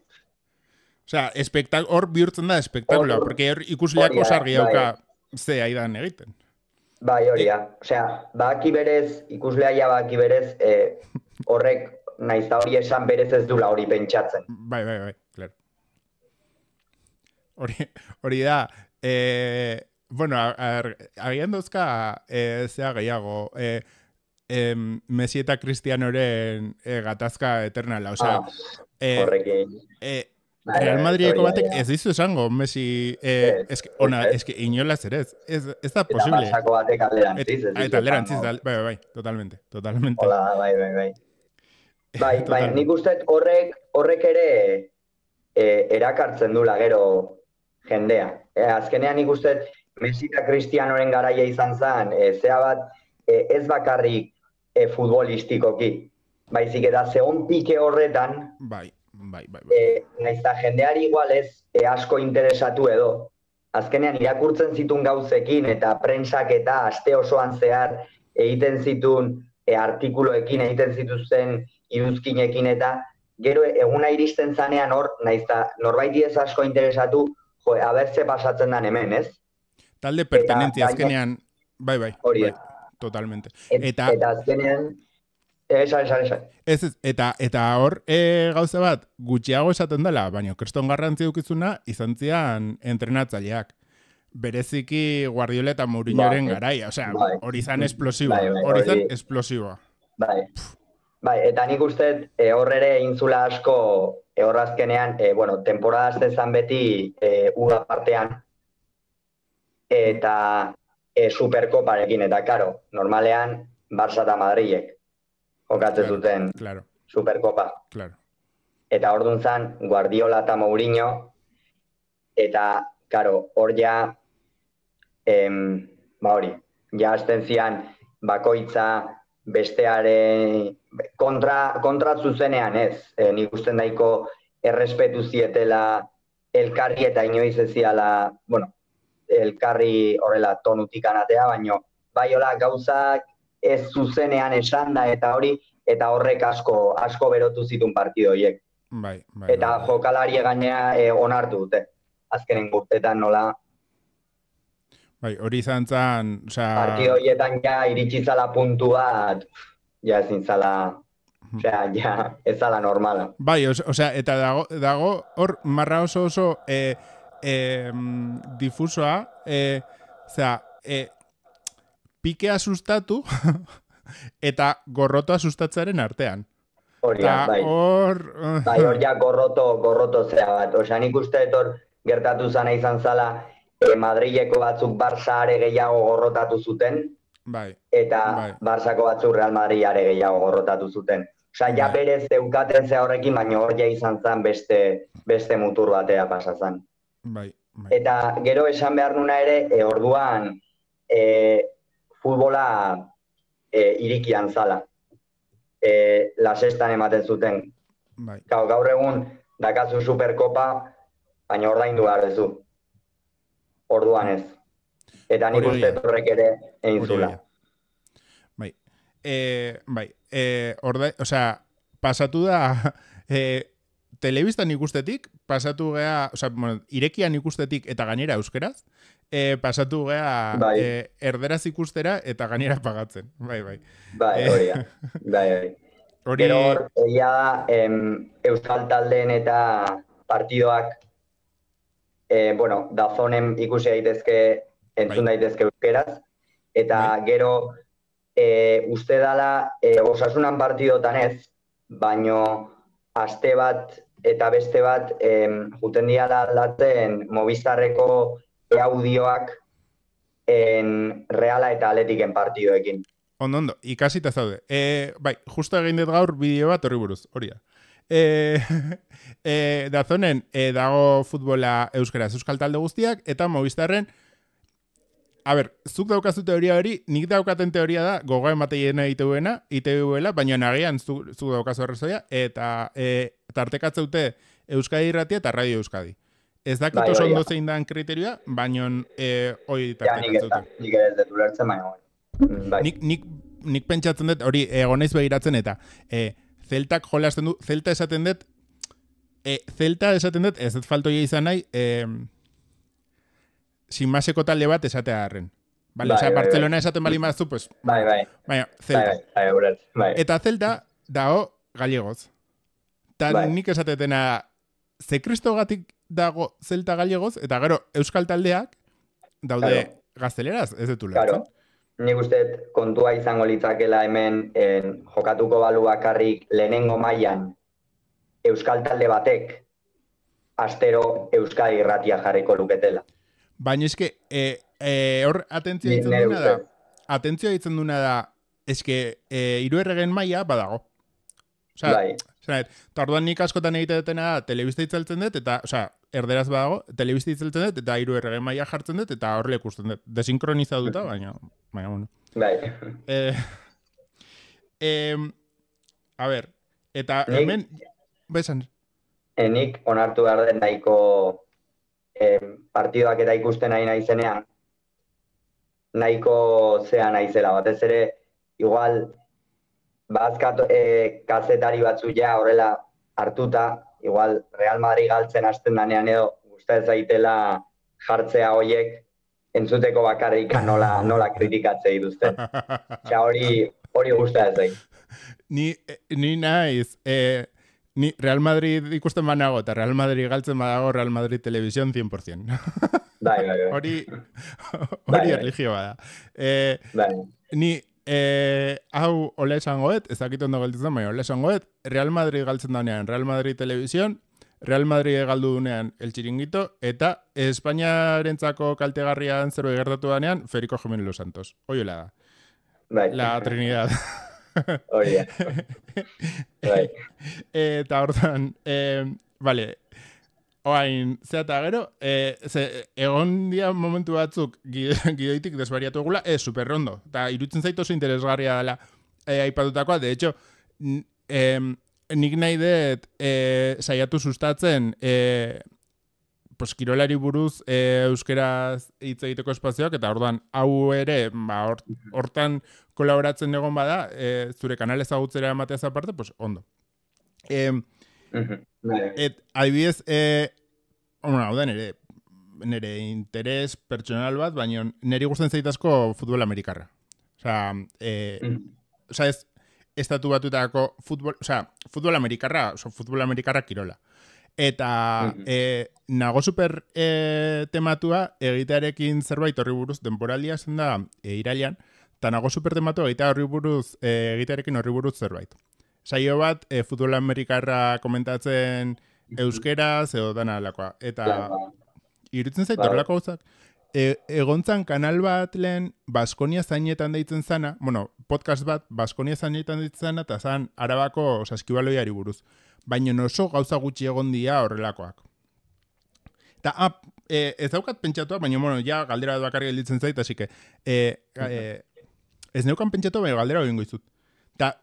Osea, espektak, hor bihurtzen da espektakuloa, Hor- porque hor ikusleak hori da, osargi bai. dauka ze aidan egiten. Bai, hori da. Osea, baki berez, ikuslea ja baki berez, eh, horrek, naiz da hori esan berez ez dula hori pentsatzen. Bai, bai, bai, claro. Hori, hori da, eh, bueno, agian dauzka eh, zea gehiago, eh, eh, Messi eta Cristianoren eh, gatazka eternala, osea, Ah, eh, horrekin. eh, Bai, Real bai, Madrideko hori da, batek ja. ez dizu esango, Messi, eh, Ez, eske, ona, ez, ez. eske inolaz ere ez, ez, ez da Eta posible. Barçako batek alderantziz. Et, ez eta dizu alderantziz, esango. da, bai, bai, bai, totalmente, totalmente. Hola, bai, bai, bai. Bai, bai, Totalmente. nik uste horrek, horrek ere eh, erakartzen dula gero jendea. Eh, azkenean nik uste Messi eta Cristianoren garaia izan zen, eh, zea bat, eh, ez bakarrik eh, futbolistikoki, baizik eta zeon pike horretan, Bai, bai, bai, bai. eh, naiz eta jendeari igual ez eh, asko interesatu edo. Azkenean irakurtzen zituen gauzekin eta prentsak eta aste osoan zehar egiten zituen e, artikuloekin, egiten zituzten iruzkinekin eta gero eguna iristen zanean hor, naiz eta norbaiti ez asko interesatu, jo, aber ze pasatzen den hemen, ez? Talde pertenentzia gaine- azkenean, bai, bai, Hori bai, da. totalmente. Et, Eta, eta azkenean, esan, esan, esan. ez, ez, eta, eta hor e, gauza bat, gutxiago esaten dela, baina kriston garrantzi dukizuna izan zian entrenatzaileak. Bereziki Guardiola eta Mourinhoren Bai, garaia, osea, bai. hori zan esplosiboa, Bai, bai, hori zan hori- esplosiboa. Bai. Bai, eta nik uste e, hor ere intzula asko e, hor azkenean, e, bueno, temporada zezan beti e, uda partean eta e, Superkoparekin, eta karo, normalean Barça eta Madrilek jokatzen Claro, zuten claro, Superkopa. claro. Eta orduan zan Guardiola eta Mourinho, eta, karo, hor ja, em, ba hori, ja hasten zian bakoitza bestearen kontra, kontra zuzenean ez. E, nik usten daiko errespetu zietela elkarri eta inoiz ez ziala, bueno, elkarri horrela tonutik anatea, baino bai hola gauzak ez zuzenean esan da eta hori, eta horrek asko asko berotu zituen partido horiek. Bai, bai, Eta bai. jokalari gainea e, onartu dute. Azkenen urtetan nola Bai, hori izan zen, osea, partido horietan ja iritsi zala puntu bat, ja ezin zala, osea, ja ez zala normala. bai, os- osea, eta dago, dago hor marra oso oso e, e, mm, difusoa, e, osea, e, pikea sustatu eta gorrotoa sustatzearen artean. Hori da, Eta bai. hor... Bai, hor ja gorroto, gorroto zea bat. Osea, nik uste dut hor gertatu zana izan zala, e, Madrileko batzuk Barça are gehiago gorrotatu zuten, Bai, eta Bai. Barçako batzuk Real Madrid are gehiago gorrotatu zuten. Osa, ja berez zeukaten ze horrekin, baina hor ja izan zen beste, beste mutur batea pasazan. Bai, bai. Eta gero esan behar nuna ere, e, orduan e, futbola e, irikian zala. E, la sextan ematen zuten. Bai. Gaur, gaur egun dakazu Superkopa, baina ordaindu behar duzu. Orduan ez. Eta nik uste horrek ere egin zula. Bai. E, bai. E, orda, o sea, pasatu da e, telebistan ikustetik, pasatu gea, o sea, bueno, irekian ikustetik eta gainera euskeraz, e, pasatu gea bai. e, erderaz ikustera eta gainera pagatzen. Bai, bai. Bai, hori da. Bai, bai. Hori... Gero hor, egia da, em, euskal taldeen eta partidoak, e, bueno, dazonen ikusi daitezke, entzun bai. daitezke euskeraz, eta bai. Gero, E, uste dala e, osasunan partidotan ez, baino aste bat eta beste bat e, juten diala aldatzen Movistarreko audioak en Reala eta Atletiken partidoekin. Ondo, ondo, ikasita zaude. E, bai, justo egin dut gaur bideo bat horri buruz, hori da. E, e, dazonen e, dago futbola euskaraz euskal talde guztiak eta Movistarren. A ber, zuk daukazu teoria hori, nik daukaten teoria da, gogoa emateien egiteuena, iteuela, baina nagian zuk, zuk daukazu arrazoia, eta e, tartekatzeute Euskadi Irratia eta Radio Euskadi. Ez dakit bai, oso ondo zein dan kriterioa, baina e, hori tartekatzeute. Ja, nik ez dut ulertzen, baina bai. Nik, nik, nik pentsatzen dut, hori egonaiz begiratzen eta e, Zeltak jolasten du, Zelta esaten dut, e, Zelta esaten dut, ez dut faltoia izan nahi, e, sinmaseko talde bat esatea harren. Vale, bai, o sea, bai, Barcelona bai. Esaten bali mazu, pues... Bai, bai. Baina, Zelta. Bai, bai, bai, bai. Eta Zelta dago gallegoz. Ta bai. Nik esatetena ze kristogatik dago Zelta gallegoz, eta gero Euskal taldeak daude claro. Gazteleraz, ez dut ulertzen. Claro. Nik uste kontua izango litzakela hemen en, jokatuko balu bakarrik lehenengo mailan Euskal talde batek astero Euskadi Irratia jarriko luketela. Baina eske, e, e, hor atentzioa ditzen duna da, atentzioa ditzen duna da, eske, e, hiru erregen maila badago. Osa, bai. Osa, eta orduan nik askotan egite dutena da, telebista itzaltzen dut, eta, osa, erderaz badago, telebista itzaltzen dut, eta hiru erregen maila jartzen dut, eta horrela ikusten dut. Desinkronizatuta, baina, baina, bueno. Bai. E, e, a ber, eta hemen, besan. Enik onartu behar den nahiko... Eh, partidoak eta ikusten nahi naizenean nahiko zea naizela, batez ere igual bazkat eh, kazetari batzu ja horrela hartuta, igual Real Madrid galtzen hasten danean edo gustatzen zaitela jartzea hoiek entzuteko bakarrik nola nola kritikatzei dituzten. Ja hori hori gustatzen zait. Ni ni naiz eh Ni Real Madrid ikusten banago eta Real Madrid galtzen badago Real Madrid Televisión cien por ciento. Bai, bai, bai. Hori hori erlijioa da. Eh, bai. Ni eh, hau ole esangoet, ez dakit ondo gelditzen, baina ole esangoet, Real Madrid galtzen danean Real Madrid Televisión, Real Madrid galdu dunean El Chiringuito, eta Espainiarentzako kaltegarrian zerbait gertatu danean Federico Jiménez Los Santos. Hoiola da. Bai. La Trinidad. Hori da. Bai. Eta hortan, eh, vale, oain, zeata gero, eh, ze, egon dia momentu batzuk gidoitik desbariatu egula, ez, superrondo. Eta irutzen zaitu oso interesgarria dela eh, aipatutakoa, de hecho, eh, nik nahi dut eh, saiatu sustatzen eh, pues, kirolari buruz eh, euskeraz hitz egiteko espazioak, eta orduan hau ere, ba, hort, hortan kolaboratzen egon bada, eh, zure kanal ezagutzera emateaz aparte, pues ondo. Eh, et, adibidez, eh, bueno, hau da nire, nire interes pertsonal bat, baina niri gusten zaitazko futbol amerikarra. Osa, eh, mm. osa ez, estatu batutako futbol, osa, futbol amerikarra, oso futbol amerikarra kirola. Eta mm-hmm. eh, nago super eh, tematua egitearekin zerbait horri buruz, denporaldia zen da eh, irailean, eta nago super tematua egitea horri buruz, eh, egitearekin horri buruz zerbait. Saio bat, eh, futbol amerikarra komentatzen euskeraz edo dana alakoa. Eta irutzen zait horrelako gauzak, e, egontzan kanal bat lehen Baskonia zainetan deitzen zana, bueno, podcast bat Baskonia zainetan deitzen zana, eta zan Arabako saskibaloiari buruz. Baina oso gauza gutxi egon dira horrelakoak. Eta, ah, e, ez daukat pentsatua, baina, bueno, ja, galdera bakarri gelditzen zait, así que, e, e, ez neukan pentsatua, baina galdera hori izut. Eta,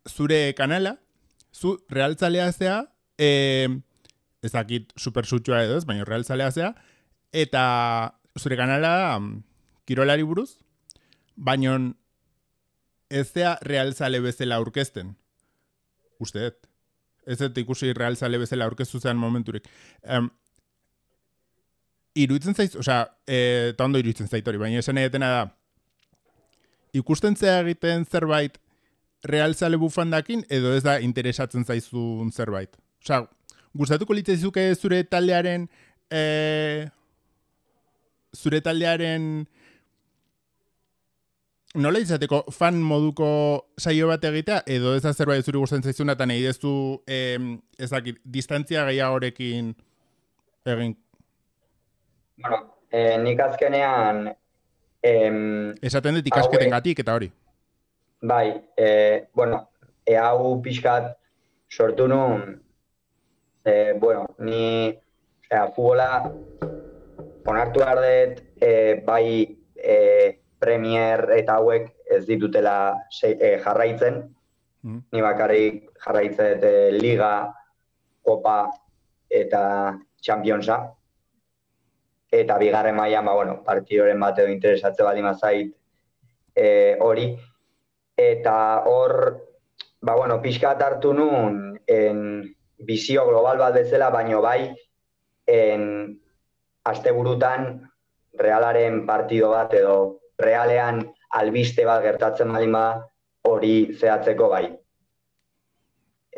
zure kanala, zu realtzalea zea, e, ez dakit supersutxua edo ez, baina realtzalea zea, eta zure kanala kirolari buruz, baina ez zea realtzale bezala aurkezten. Uste dut. Ez dut ikusi realtzale bezala aurkeztu zean momenturik. Um, iruditzen zaiz, osea, e, eta ondo iruditzen zait hori, baina esan edetena da, ikusten zea egiten zerbait realzale bufandakin, edo ez da interesatzen zaizun zerbait. Osea, gustatuko litzaizuke zure taldearen e, zure taldearen nola izateko fan moduko saio bat egitea, edo ez da zerbait zuri gustatzen zaizuna, eta nahi dezu eh, ezakit, distantzia gehiagorekin egin. Bueno, eh, nik azkenean em, esaten dut ikasketengatik eta hori. Bai, eh, bueno, e hau pixkat sortu nun, eh, bueno, ni ea, futbola onartu behar dut, eh, bai eh, Premier eta hauek ez ditutela se, eh, jarraitzen, mm. ni bakarrik jarraitzen eh, Liga, Kopa eta Championsa, eta bigarren mailan, ba, bueno, partidoren bat edo interesatze baldin bazait hori, e, eta hor, ba, bueno, pixkat hartu nun en bizio global bat bezala, baino bai, en asteburutan Realaren partido bat edo Realean albiste bat gertatzen baldin bada hori zehatzeko bai.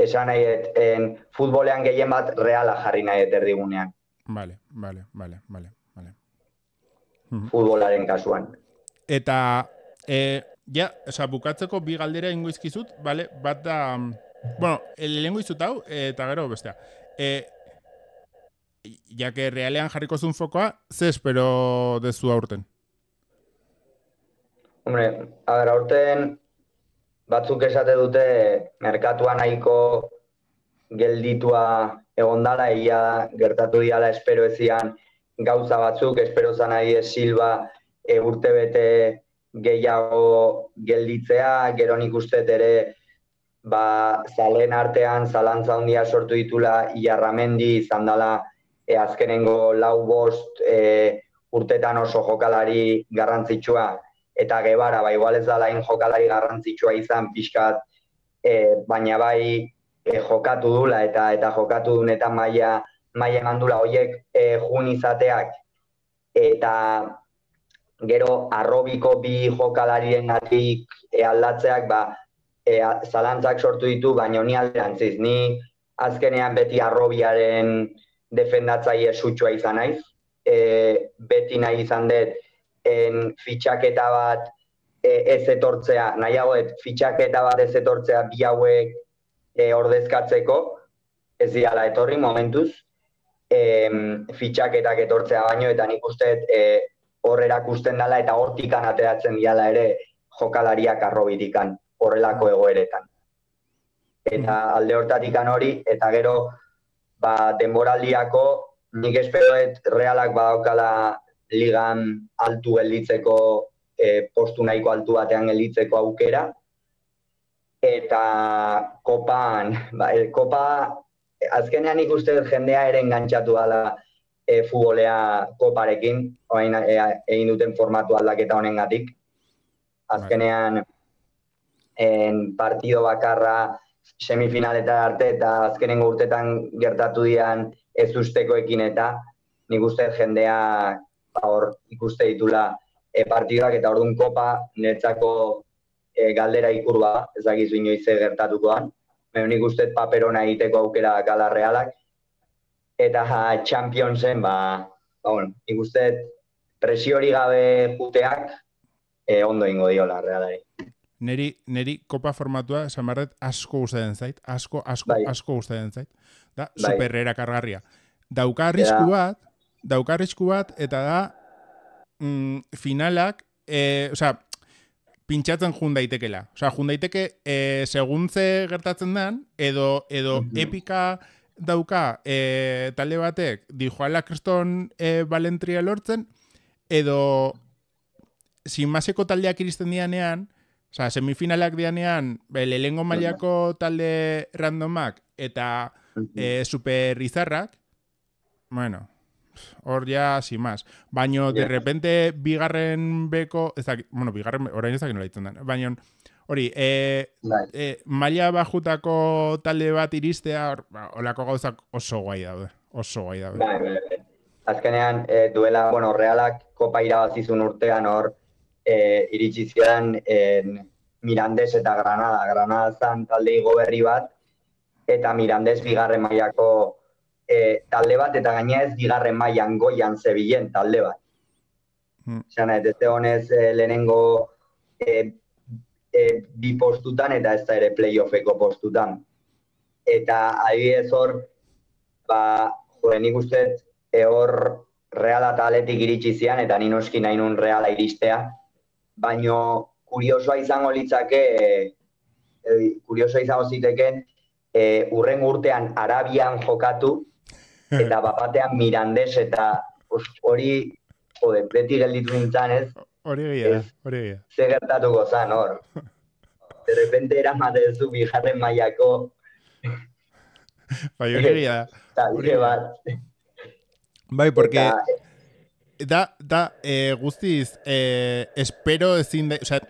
Esan nahi, en futbolean gehien bat Reala jarri nahi erdigunean. Vale, vale, vale, vale. Futbolaren kasuan. Eta, e, ja, oza, bukatzeko bi galdera ingo izkizut, vale? Bat da, bueno, lehengo izut hau, eta gero bestea. E, ja que Realean jarriko zuen fokoa, ze espero dezu aurten? Hombre, a ver, aurten batzuk esate dute merkatua nahiko gelditua egondala, egia gertatu diala espero ezian gauza batzuk, espero zan nahi Silva e, urtebete gehiago gelditzea, gero nik uste ere ba, zalen artean zalantza handia sortu ditula Iarramendi izan dela e, azkenengo lau bost e, urtetan oso jokalari garrantzitsua, eta Gebara, ba, igual ez da lain jokalari garrantzitsua izan pixkat, e, baina bai e, jokatu dula eta eta jokatu dunetan maila maila mandula horiek e, jun izateak, eta gero arrobiko bi jokalarien gatik e, aldatzeak, ba, e, zalantzak sortu ditu, baina ni alderantziz, ni azkenean beti arrobiaren defendatzaile sutxua izan naiz, e, beti nahi izan dut en fitxaketa bat e, ez etortzea, nahiagoet fitxaketa bat ez etortzea bi hauek e, ordezkatzeko, ez diala etorri momentuz, e, fitxaketak etortzea baino, eta nik uste e, hor erakusten dela eta hortikan ateratzen diala ere jokalariak arrobitikan, horrelako egoeretan. Eta alde hortatikan hori, eta gero ba, denboraldiako nik esperoet Realak badaukala ligan altu gelditzeko, e, postu nahiko altu batean gelditzeko aukera, eta kopan, ba, el, kopa azkenean ikusten jendea ere engantzatu dela e, futbolea koparekin, orain e, egin duten formatu aldaketa honengatik. Azkenean en partido bakarra semifinaletan arte eta azkenengo urtetan gertatu dian ez ustekoekin, eta nik uste jendea hor ikuste ditula e, partidoak, eta orduan kopa niretzako e, galdera ikurba, ez dakizu inoiz gertatukoan. Nik uste paperona egiteko aukera dakala Realak, eta ja, Championsen, ba, ba bueno, nik uste presiori gabe puteak e, ondo ingo diola Realari. Neri, neri kopa formatua, samarret, asko gustatzen zait, asko, asko, bai. asko gustatzen zait. Da, bai. Super erakargarria. Dauka arrisku bat, dauka arrisku bat, eta da, mm, finalak, eh, osea, pintxatzen jun daitekela. Osea, jun daiteke, eh, segun ze gertatzen den, edo, edo Mhm. epika dauka eh, talde batek dijoala kriston eh, balentria lortzen, edo sinmaseko taldeak iristen dianean, osea, semifinalak dianean, lehengo mailako talde randomak eta eh, super izarrak, bueno, hor ja, sin más. Baina, de repente, bigarren beko, ez dakit, bueno, bigarren, orain ez dakit nola ditzen den, baina, hori, e, e, maila bajutako talde bat iristea, or, ba, olako gauzak oso guai daude, oso guai daude. Bai, bai, bai. Azkenean, e, duela, bueno, Realak kopa irabazizun urtean hor, e, iritsi zidan en, Mirandes eta Granada. Granada zan talde igo berri bat, eta Mirandes bigarren mailako e, talde bat, eta gaina ez bigarren mailan goian zebilen talde bat. Hmm. Zena, ez honez e, lehenengo e, e, bi postutan, eta ez da ere playoffeko postutan. Eta adibidez hor, ba, jode, nik uste e, hor Reala eta Atletik iritsi zian, eta ni noski nahi nun Reala iristea, baino kuriosoa izango litzake, e, e, kuriosoa izango ziteken, e, urren urtean Arabian jokatu, eta bapatean Mirandes, eta hori, jode, beti gelditu nintzen, ez? Hori egia, hori egia. Ze gertatuko zan, hor. De repente eramatezu bigarren mailako bai, hori egia. talde bat. Bai, porque da, da eh, guztiz, eh, espero ezin da, o sea,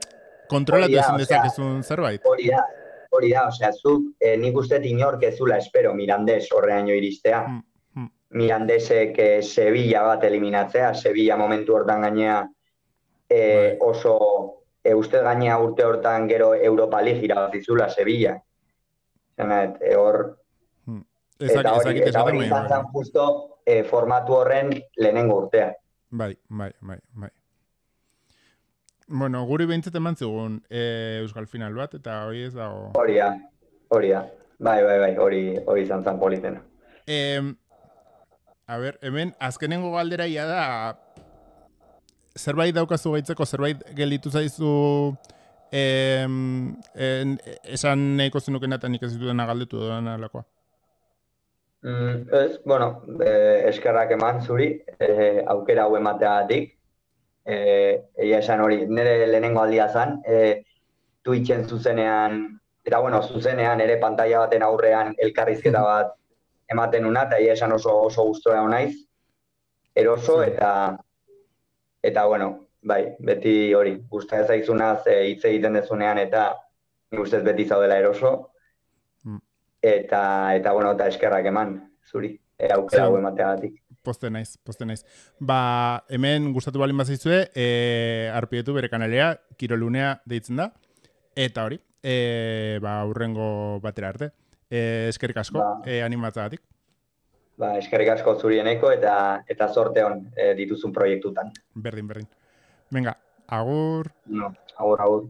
kontrolatu ezin dezakezun zerbait. Hori da, hori da, osea, zuk, eh, nik uste inork ezula espero Mirandes horreaino iristea. Mm, mm. Mirandesek eh, Sevilla bat eliminatzea, Sevilla momentu hortan gainea eh, oso, e, uste gainea urte hortan gero Europa League irabazizula Sevilla. Zena, e, hor, mm. eta hori, eta hori izan zen justo eh, formatu horren lehenengo urtea. Bai, bai, bai, bai. Bueno, guri behintzat eman zigun e, Euskal Final bat, eta hori ez dago... Hori da, hori da. Bai, bai, bai, hori, hori izan zen politena. Eh, a ber, hemen, azkenengo galdera ia da, zerbait daukazu gaitzeko, zerbait gelditu zaizu eh, en, esan nahiko zenukena eta nik ez ditudena galdetu dena alakoa. Mm, ez, bueno, eh, eskerrak eman zuri, eh, aukera hau emateagatik. Eh, egia esan hori, nire lehenengo aldia zen, eh, Twitchen zuzenean, eta bueno, zuzenean ere pantalla baten aurrean elkarrizketa bat ematen una, eta egia esan oso, oso gustora naiz, eroso, eta, eta bueno, bai, beti hori, gusta zaizunaz eh, hitz egiten dezunean, eta nik ustez beti zaudela eroso, eta, eta bueno, eta eskerrak eman, zuri, e, aukera hau emateagatik. Poste naiz, poste naiz. Ba, hemen gustatu balin bazaizue, e, arpietu bere kanalea, Kirolunea deitzen da, eta hori, e, ba, urrengo batera arte. E, eskerrik asko, ba, e, animatzagatik. Ba, eskerrik asko zurieneko, eta, eta sorte hon e, dituzun proiektutan. Berdin, berdin. Venga, agur. No, agur, agur.